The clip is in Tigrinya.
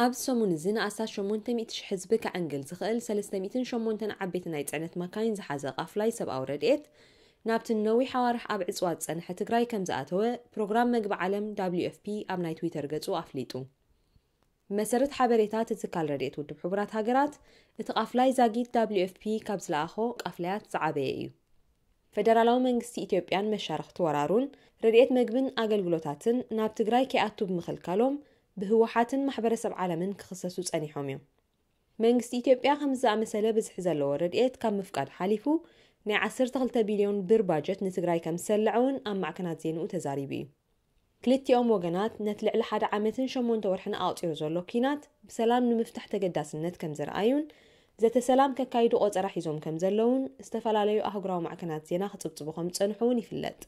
ኣብ ሰሙን እዚ ንኣስታት ሸሞንተ ሚእቲ ሺሕ ህዝቢ ከዕንግል ዝኽእል ሰለስተ ሚእትን ሸሞንተን ዓበይቲ ናይ ጽዕነት ማካይን ዝሓዘ ቃፍላይ ሰብኣዊ ረድኤት ናብቲ ነዊሕ ኣዋርሕ ኣብ ዕጽዋ ዝጸንሐ ትግራይ ከም ዝኣተወ ፕሮግራም መግቢ ዓለም W F P ኣብ ናይ ትዊተር ገጹ ኣፍሊጡ። ብመሰረት ሓበሬታ እቲ ትካል ረድኤት ውድብ ሕቡራት ሃገራት፣ እቲ ቃፍላይ ዛጊት W F P ካብ ዝለኣኾ ቃፍላያት ዝዓበየ እዩ። ፈደራላዊ መንግስቲ ኢትዮጵያን መሻርኽቲ ወራሩን ረድኤት መግብን ኣገልግሎታትን ናብ ትግራይ ከይኣቱ ብምኽልካሎም ብህወሓትን ማሕበረሰብ ዓለምን ክኽሰሱ ጸኒሖም እዮም። መንግስቲ ኢትዮጵያ ከምዚ ዝኣመሰለ ብዝሒ ዘለዎ ረድኤት ካብ ምፍቃድ ሓሊፉ ናይ ዓሰርተ ክልተ ቢልዮን ብር ባጀት ንትግራይ ከም ዝሰለዐ እውን ኣብ ማዕከናት ዜንኡ ተዛሪቡ እዩ። ክልቲኦም ወገናት ነቲ ልዕሊ ሓደ ዓመትን ሸሞንተ ወርሕን ኣቑጺሩ ዘሎ ኲናት ብሰላም ንምፍታሕ ተገዳስነት ከም ዘርኣዩን ዘተ ሰላም ከካይዱ ቆጸራ ሒዞም ከም ዘለውን ዝተፈላለዩ ኣህጉራዊ ማዕከናት ዜና ክጽብጽቡ ከም ዝጸንሑ እውን ይፍለጥ።